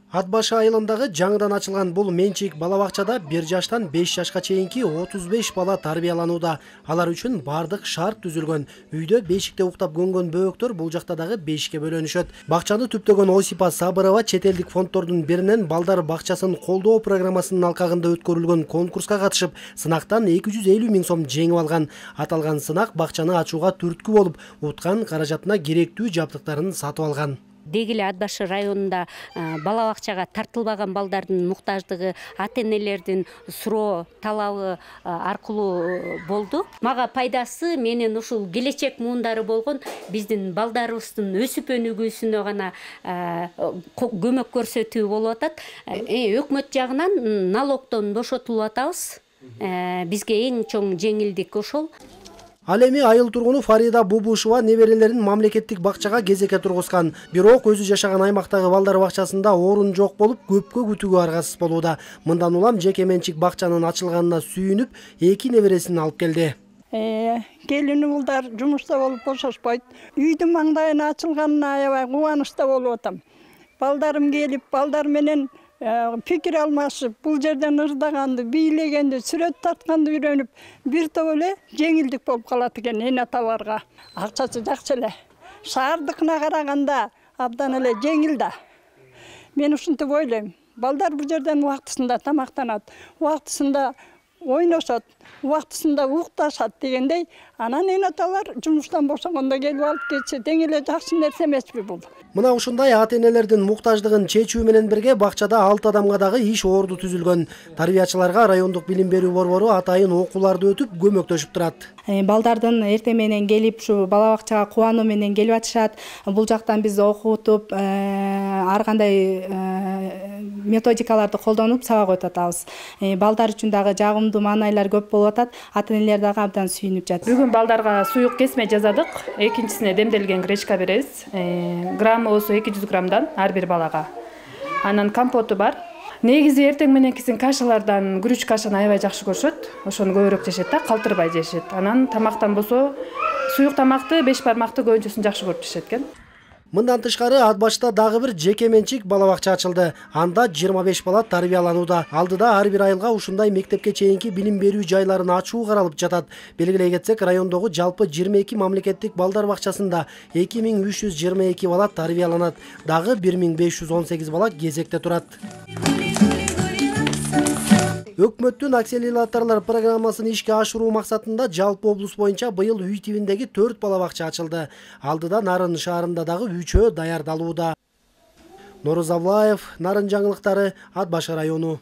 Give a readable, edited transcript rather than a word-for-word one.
Ат башы айылындагы жаңыдан ачылган бул менчик бала бакчада 1 жаштан 5 жашка чейинки 35 бала тарбияланууда. Алар үчүн бардык шарт түзүлгөн. Үйдө бешикте уктап көнгөн бөөктөр бул жакта дагы бешикке бөлөнүшөт. Бакчаны түптөгөн Осипа Сабырова чет элдик фонддордун биринен балдар бакчасын колдоо программасынын алкагында өткөрүлгөн конкурска катышып, сынактан 250 000 сом жеңип алган. Аталган сынак бакчаны ачууга түрткү болуп, уткан каражатына керектүү жабдыктарын сатып алган. Дегиле Ат башы районунда бала бакчага тартылбаган балдардын муктаждыгы ата-энелердин суроо талабы аркылуу болду. Мага пайдасы менен ушул келечек муундары болгон биздин балдарыбыздын өсүп өнүгүүсүнө гана көмөк көрсөтүү болуп атат. Өкмөт жагынан налогдон бошотулуп атабыз. Бизге эң чоң жеңилдик ошол. Ал эми айыл тургуну Фарида Бубушева неберелерин мамлекеттик бакчага кезекке тургузган. Бирок өзү жашаган аймактагы балдар бакчасында орун жок болуп, көпкө күтүүгө аргасыз болууда. Мындан улам жеке менчик бакчанын ачылганына сүйүнүп, 2 небересин алып келди. Келини улдар жумушта болуп бошошпойт. Үйдүн маңдайына ачылганына аябай кубанычта болуп атам. Балдарым келип, балдар менен пикир алмашып, бул жерден ырдаганды, бийлегенди, сүрөт тартканды үйрөнүп, бир топ эле жеңилдик болуп калат экен эне аталарга. Акчасы жакшы эле. Шаардыкына караганда абдан эле жеңил да. Мен ушинтип ойлойм. Балдар бул жерден убактысында тамактанат, убактысында ойношот, убактысында укташат дегендей, анан эне аталар жумуштан бошогондо келип алып кетсе, тең эле жакшы нерсе эмеспи бул? Мына ушундай ата-энелердин муктаждыгын чечүү менен бирге бакчада 6 адамга дагы иш орду түзүлгөн. Тарбиячыларга райондук билим берүү борбору атайын окууларды өтүп көмөктөшүп турат. Балдардын эртең менен келип, ушу бала бакчага кубануу менен келип атышат. Бул жактан биз окутуп, ар кандай методикаларды колдонуп сабак өтүп атабыз. Балдар үчүн дагы жагымдуу маанайлар көп болуп атат. Ата-энелер дагы абдан сүйүнүп жатат. Бүгүн балдарга суюк кесме жасадык. Экинчисине демделген гречка беребиз. Граммы болсо 200 граммдан ар бир балага. Анан компоту бар. Негизи эртең мененкисин кашалардан күрүч кашаны аябай жакшы көрүшөт. Ошону көбүрөөк жешет да, калтырбай жешет. Анан тамактан болсо суюк тамакты, 5 бармакты көбүнчөсүн жакшы көрүп жешет экен. Мындан тышкары Ат башта дагы бир жеке менчик бала бакча ачылды. Анда 25 бала тарбияланууда. Алдыда ар бир айылга ушундай мектепке чейинки билим берүү жайларын ачуу каралып жатат. Белгилей кетсек, райондогу жалпы 22 мамлекеттик балдар бакчасында 2322 бала тарбияланат. Дагы 1518 бала кезекте турат. Өкмөттүн акселераторлор программасын ишке ашыруу максатында жалпы облус боюнча быйыл үй тибиндеги 4 бала бакча ачылды. Алдыда Нарын шаарында дагы 3-өө даярдалууда. Норозавлаев, Нарын жаңылыктары, Ат башы району.